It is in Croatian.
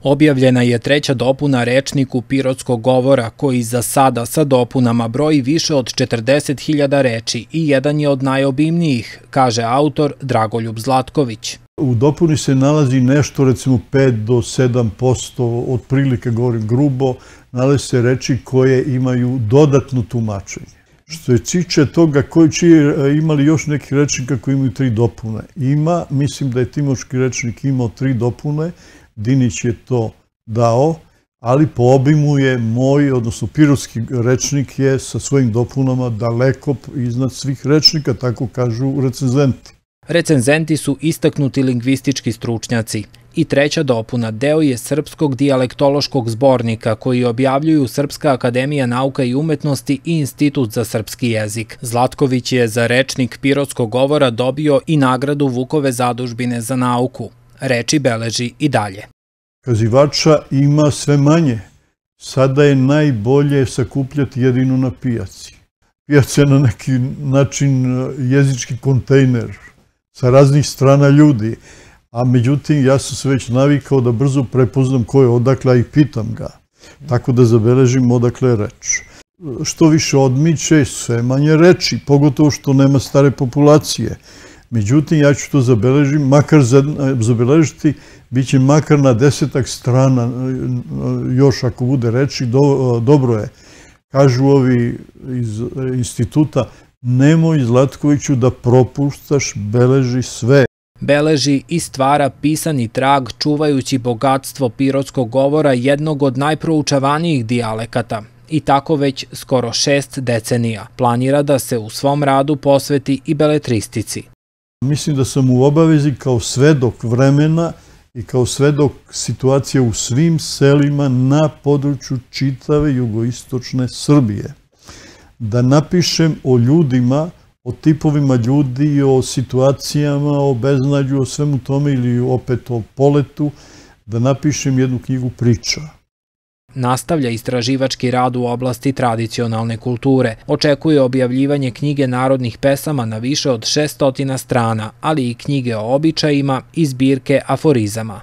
Objavljena je treća dopuna rečniku Pirotskog govora, koji za sada sa dopunama broji više od 40.000 reči i jedan je od najobimnijih, kaže autor Dragoljub Zlatković. U dopuni se nalazi nešto, recimo 5 do 7%, otprilike govorim grubo, nalazi se reči koje imaju dodatno tumačenje. Što je tiče toga koji će imali još neki rečnika koji imaju 3 dopune. Ima, mislim da je Timočki rečnik imao 3 dopune, Dinić je to dao, ali po obimu je moj, odnosno Pirotski rečnik je sa svojim dopunama daleko iznad svih rečnika, tako kažu recenzenti. Recenzenti su istaknuti lingvistički stručnjaci. I treća dopuna deo je srpskog dijalektološkog zbornika koji objavljuju Srpska akademija nauka i umetnosti i Institut za srpski jezik. Zlatković je za rečnik Pirotskog govora dobio i nagradu Vukove zadužbine za nauku. Reči beleži i dalje. Kazivača ima sve manje. Sada je najbolje sakupljati jedino na pijaci. Pijaca je na neki način jezički kontejner sa raznih strana ljudi. A međutim, ja sam se već navikao da brzo prepoznam ko je odakle i pitam ga. Tako da zabeležim odakle je reč. Što više odmiče, sve manje reči, pogotovo što nema stare populacije. Međutim, ja ću to zabeležiti, bit će makar na 10 strana, još ako bude reči, dobro je. Kažu ovi iz instituta, nemoj Zlatkoviću da propuštaš, beleži sve. Beleži i stvara pisani trag čuvajući bogatstvo pirotskog govora, jednog od najproučavanijih dijalekata. I tako već skoro 6 decenija. Planira da se u svom radu posveti i beletristici. Mislim da sam u obavezi kao svedok vremena i kao svedok situacije u svim selima na području čitave jugoistočne Srbije. Da napišem o ljudima, o tipovima ljudi, o situacijama, o beznađu, o svemu tome ili opet o poletu, da napišem jednu knjigu priča. Nastavlja istraživački rad u oblasti tradicionalne kulture. Očekuje objavljivanje knjige narodnih pesama na više od 600 strana, ali i knjige o običajima i zbirke aforizama.